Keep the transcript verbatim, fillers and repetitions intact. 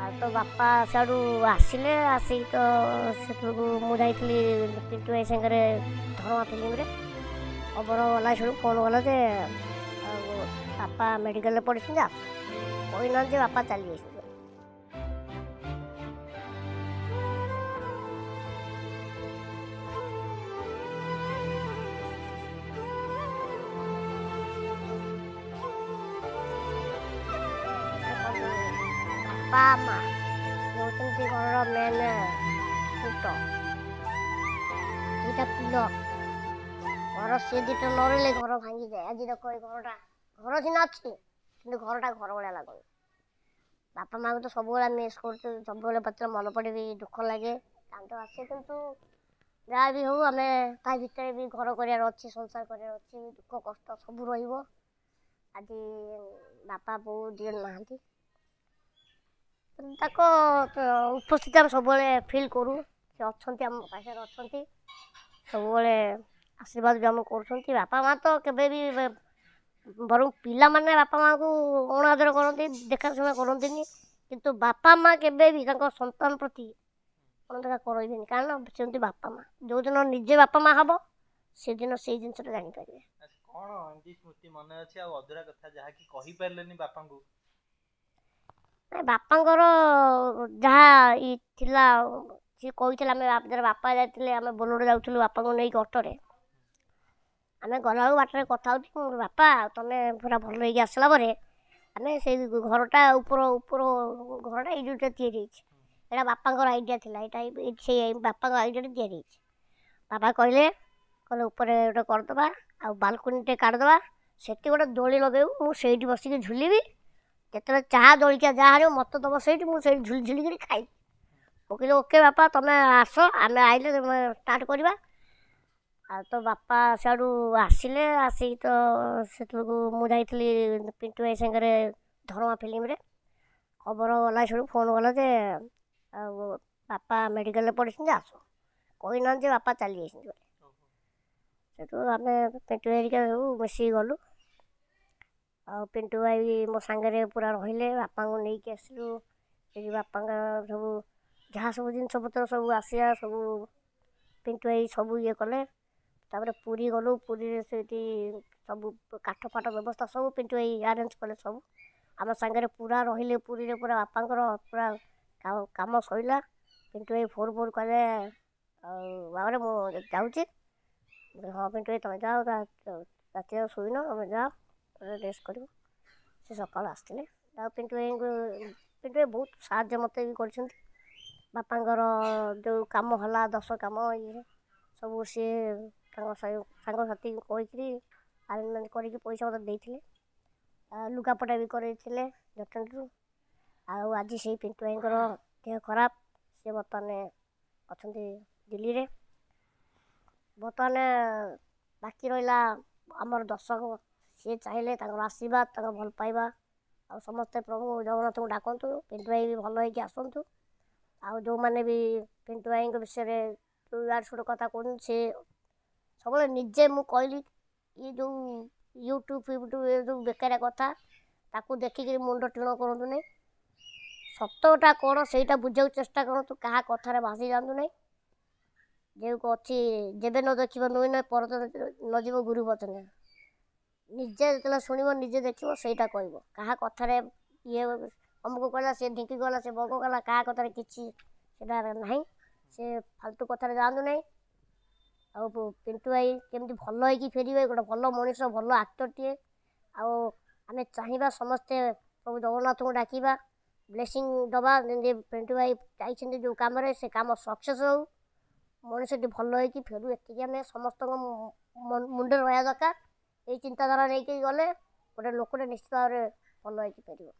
ଆଉ ତ ବାପା ସିଆଡ଼ୁ ଆସିଲେ, ଆସିକି ତ ସେତେବେଳକୁ ମୁଁ ଯାଇଥିଲି ପିଣ୍ଟୁ ଭାଇ ସାଙ୍ଗରେ ଧରମା ଫିଲ୍ମରେ। ଖବର ଗଲା, ସେଠୁ ଫୋନ୍ ଗଲା ଯେ ଆଉ ବାପା ମେଡ଼ିକାଲରେ ପଡ଼ିଛନ୍ତି, ଆସ। କହିନାହାନ୍ତି ଯେ ବାପା ଚାଲି ଯାଇଛନ୍ତି। ବାପା ମା ହେଉଛନ୍ତି ଘରର ମେନ୍ ଖୁଣ୍ଟ, ଦୁଇଟା ପିଲର ଘର। ସେ ଦୁଇଟା ନ ରହିଲେ ଘର ଭାଙ୍ଗିଯାଏ। ଆଜି ଦେଖ, ଏଇ ଘରଟା ଘର ସିନା ଅଛି, କିନ୍ତୁ ଘରଟା ଘର ଭଳିଆ ଲାଗୁନି। ବାପା ମାଆକୁ ତ ସବୁବେଳେ ମିସ୍ କରୁଛୁ, ସବୁବେଳେ ପତ୍ର ମନେ ପଡ଼େ ବି ଦୁଃଖ ଲାଗେ, କାନ୍ଦ ଆସେ। କିନ୍ତୁ ଯାହା ବି ହଉ, ଆମେ ତା ଭିତରେ ବି ଘର କରିବାର ଅଛି, ସଂସାର କରିବାର ଅଛି, ଦୁଃଖ କଷ୍ଟ ସବୁ ରହିବ। ଆଜି ବାପା ବୋଉ ଦୁଇ ଜଣ ନାହାନ୍ତି, ତାଙ୍କ ଉପସ୍ଥିତି ଆମେ ସବୁବେଳେ ଫିଲ୍ କରୁ। ସେ ଅଛନ୍ତି, ଆମ ପାଖରେ ଅଛନ୍ତି, ସବୁବେଳେ ଆଶୀର୍ବାଦ ବି ଆମକୁ କରୁଛନ୍ତି। ବାପା ମା' ତ କେବେ ବି, ବରଂ ପିଲାମାନେ ବାପା ମାଆଙ୍କୁ ଅଣାଦର କରନ୍ତି, ଦେଖାଶୁଣା କରନ୍ତିନି, କିନ୍ତୁ ବାପା ମା' କେବେ ବି ତାଙ୍କ ସନ୍ତାନ ପ୍ରତି ଅଣଦେଖା କରନ୍ତିନି, କାରଣ ସେମିତି ବାପା ମା'। ଯେଉଁଦିନ ନିଜେ ବାପା ମା' ହେବ, ସେଦିନ ସେଇ ଜିନିଷଟା ଜାଣିପାରିବେ। କ'ଣ ଏମିତି ସ୍ମୃତି ମନେ ଅଛି ଆଉ ଅଧୁରା କଥା ଯାହାକି କହିପାରିଲେନି ବାପାଙ୍କୁ? ବାପାଙ୍କର ଯାହା ଇ ଥିଲା, ସିଏ କହିଥିଲେ। ଆମେ ଯେତେବେଳେ ବାପା ଯାଇଥିଲେ, ଆମେ ବୋଲେରୋ ଯାଉଥିଲୁ ବାପାଙ୍କୁ ନେଇକି ଅଟୋରେ। ଆମେ ଗଲାବେଳକୁ ବାଟରେ କଥା ହେଉଛୁ, ବାପା ତମେ ପୁରା ଭଲ ହେଇକି ଆସିଲା ପରେ ଆମେ ସେଇ ଘରଟା, ଉପର ଉପର ଘରଟା ଏଇ ଯେଉଁଟା ତିଆରି ହେଇଛି, ଏଇଟା ବାପାଙ୍କର ଆଇଡ଼ିଆ ଥିଲା। ଏଇଟା ସେଇ ବାପାଙ୍କ ଆଇଡ଼ିଆରେ ତିଆରି ହେଇଛି। ବାପା କହିଲେ କହିଲେ ଉପରେ ଗୋଟେ କରିଦେବା ଆଉ ବାଲକୁନିଟେ କାଢ଼ିଦେବା, ସେଠି ଗୋଟେ ଦୋଳି ଲଗେଇବୁ, ମୁଁ ସେଇଠି ବସିକି ଝୁଲିବି। ଯେତେବେଳେ ଚାହା ଜଳଖିଆ ଯାହା ଆଣିବ ମୋତେ ଦେବ, ସେଇଠି ମୁଁ ସେଇଠି ଝୁଲି ଝୁଲିକିରି ଖାଇବି। ମୁଁ କହିଲି, ଓକେ ବାପା, ତମେ ଆସ, ଆମେ ଆଇଲେ ତମେ ଷ୍ଟାର୍ଟ କରିବା। ଆଉ ତ ବାପା ସିଆଡ଼ୁ ଆସିଲେ, ଆସିକି ତ ସେତେବେଳକୁ ମୁଁ ଯାଇଥିଲି ପିଣ୍ଟୁ ଭାଇ ସାଙ୍ଗରେ ଧରମା ଫିଲ୍ମରେ। ଖବର ଗଲା, ସେଠୁ ଫୋନ୍ ଗଲା ଯେ ଆଉ ବାପା ମେଡ଼ିକାଲରେ ପଡ଼ିଛନ୍ତି, ଆସ। କହିନାହାନ୍ତି ଯେ ବାପା ଚାଲି ଯାଇଛନ୍ତି ବୋଲି। ସେଠୁ ଆମେ ପିଣ୍ଟୁ ହେରିକା ସବୁ ମିଶିକି ଗଲୁ, ଆଉ ପିଣ୍ଟୁ ଭାଇ ବି ମୋ ସାଙ୍ଗରେ ପୁରା ରହିଲେ। ବାପାଙ୍କୁ ନେଇକି ଆସିଲୁ ଏଠି। ବାପାଙ୍କ ସବୁ ଯାହା ସବୁ ଜିନିଷପତ୍ର ସବୁ ଆସିବା, ସବୁ ପିଣ୍ଟୁ ଭାଇ ସବୁ ଇଏ କଲେ। ତାପରେ ପୁରୀ ଗଲୁ। ପୁରୀରେ ସେଇଠି ସବୁ କାଠ ଫାଠ ବ୍ୟବସ୍ଥା ସବୁ ପିଣ୍ଟୁ ଭାଇ ଆରେଞ୍ଜ କଲେ ସବୁ। ଆମ ସାଙ୍ଗରେ ପୁରା ରହିଲେ ପୁରୀରେ। ପୁରା ବାପାଙ୍କର ପୁରା କାମ ସରିଲା, ପିଣ୍ଟୁ ଭାଇ ଫୋନ୍ ଫୋନ୍ କଲେ, ଆଉ ବାବାରେ ମୁଁ ଯାଉଛି। ହଁ ପିଣ୍ଟୁ ଭାଇ, ତମେ ଯାଅ, ରାତିରେ ଆଉ ଶୋଇନ, ତମେ ଯାଅ, ରେଷ୍ଟ କରିବ। ସେ ସକାଳୁ ଆସିଥିଲେ। ଆଉ ପିଣ୍ଟୁ ଭାଇଙ୍କୁ, ପିଣ୍ଟୁ ଭାଇ ବହୁତ ସାହାଯ୍ୟ ମୋତେ ବି କରିଛନ୍ତି। ବାପାଙ୍କର ଯେଉଁ କାମ ହେଲା, ଦଶ କାମ ଇଏ ସବୁ, ସିଏ ତାଙ୍କ ସାଙ୍ଗସାଥିଙ୍କୁ କହିକିରି ଆରେଞ୍ଜମେଣ୍ଟ କରିକି ପଇସା ମୋତେ ଦେଇଥିଲେ, ଆଉ ଲୁଗାପଟା ବି କରେଇଥିଲେ ଜଟଣୀରୁ। ଆଉ ଆଜି ସେଇ ପିଣ୍ଟୁ ଭାଇଙ୍କର ଦେହ ଖରାପ, ସେ ବର୍ତ୍ତମାନ ଅଛନ୍ତି ଦିଲ୍ଲୀରେ। ବର୍ତ୍ତମାନ ବାକି ରହିଲା ଆମର ଦର୍ଶକ, ସିଏ ଚାହିଁଲେ ତାଙ୍କର ଆଶୀର୍ବାଦ, ତାଙ୍କର ଭଲ ପାଇବା, ଆଉ ସମସ୍ତେ ପ୍ରଭୁ ଜଗନ୍ନାଥଙ୍କୁ ଡାକନ୍ତୁ ପିଣ୍ଟୁ ଭାଇ ବି ଭଲ ହେଇକି ଆସନ୍ତୁ। ଆଉ ଯେଉଁମାନେ ବି ପିଣ୍ଟୁ ଭାଇଙ୍କ ବିଷୟରେ ଇଆଡ଼ୁ ସିଆଡ଼ୁ କଥା କହୁଛନ୍ତି, ସେ ସବୁବେଳେ ନିଜେ, ମୁଁ କହିଲି, ଇଏ ଯେଉଁ ୟୁଟ୍ୟୁବ୍ ଫ୍ୟୁଟ୍ୟୁବ୍ ଏ ଯେଉଁ ବେକାରିଆ କଥା, ତାକୁ ଦେଖିକିରି ମୁଣ୍ଡ ଟିଣ କରନ୍ତୁ ନାହିଁ। ସତଟା କ'ଣ ସେଇଟା ବୁଝିବାକୁ ଚେଷ୍ଟା କରନ୍ତୁ, କାହା କଥାରେ ଭାସି ଯାଆନ୍ତୁ ନାହିଁ। ଯେଉଁ ଅଛି, ଯେବେ ନ ଦେଖିବ ନୁହେଁ ନ ପର ନ ଯିବ ଗୁରୁ ବଚନେ। ନିଜେ ଯେତେବେଳେ ଶୁଣିବ, ନିଜେ ଦେଖିବ, ସେଇଟା କହିବ। କାହା କଥାରେ ଇଏ ଅମୁକ କହିଲା, ସେ ଢିଙ୍କି ଗଲା, ସେ ବଗ କଲା, କାହା କଥାରେ କିଛି ସେଇଟା ନାହିଁ। ସେ ଫାଲତୁ କଥାରେ ଯାଆନ୍ତୁ ନାହିଁ। ଆଉ ପିଣ୍ଟୁ ଭାଇ କେମିତି ଭଲ ହେଇକି ଫେରିବେ, ଗୋଟେ ଭଲ ମଣିଷ, ଭଲ ଆକ୍ଟରଟିଏ। ଆଉ ଆମେ ଚାହିଁବା ସମସ୍ତେ ପ୍ରଭୁ ଜଗନ୍ନାଥଙ୍କୁ ଡାକିବା, ବ୍ଲେସିଂ ଦେବା, ଯେମିତି ପିଣ୍ଟୁ ଭାଇ ଯାଇଛନ୍ତି ଯେଉଁ କାମରେ, ସେ କାମ ସକ୍ସେସ୍ ହେଉ, ମଣିଷଟି ଭଲ ହେଇକି ଫେରୁ। ଏତିକି ଆମେ ସମସ୍ତଙ୍କ ମୁଣ୍ଡରେ ରହିବା ଦରକାର। ଏଇ ଚିନ୍ତାଧାରା ନେଇକି ଗଲେ ଗୋଟେ ଲୋକଟେ ନିଶ୍ଚିତ ଭାବରେ ଭଲ ହେଇକି ଫେରିବ।